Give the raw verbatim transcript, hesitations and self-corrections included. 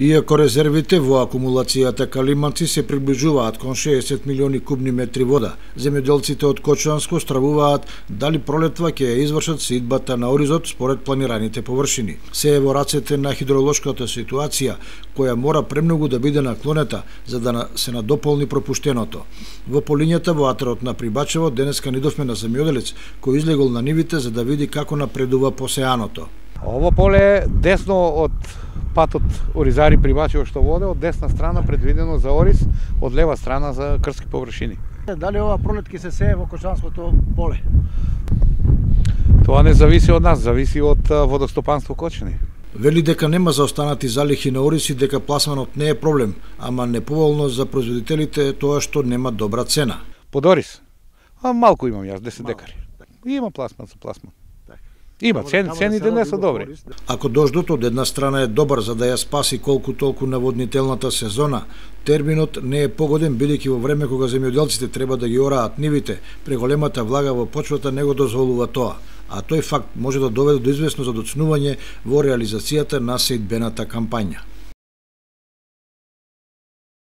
Иако резервите во акумулацијата Калиманци се приближуваат кон шеесет милиони кубни метри вода, земјоделците од Кочанско стравуваат дали пролетва ќе ја извршат сеидбата на оризот според планираните површини. Се е во рацете на хидролошката ситуација, која мора премногу да биде наклонета за да се надополни пропуштеното. Во полињата во атерот на Прибачево денеска нидовме на земјоделец кој излегол на нивите за да види како напредува посеаното. Ово поле е десно од патот Оризари Прибачево што воде, од десна страна предвидено за ориз, од лева страна за крски површини. Дали ова пролет ќе се сее во Кочанското поле? Тоа не зависи од нас, зависи од водостопанство Кочани. Вели дека нема заостанати залихи на ориз и дека пласманот не е проблем, ама неповолно за производителите тоа што нема добра цена. Под ориз? А малку имам јас, десет декари. Има пласман за пласман. Има, цен, цените не се добри. Ако дождот од една страна е добар за да ја спаси колку толку наводнителната сезона, терминот не е погоден бидејќи во време кога земјоделците треба да ги ораат нивите, преголемата влага во почвата не го дозволува тоа, а тој факт може да доведе до известно задоцнување во реализацијата на сеидбената кампања.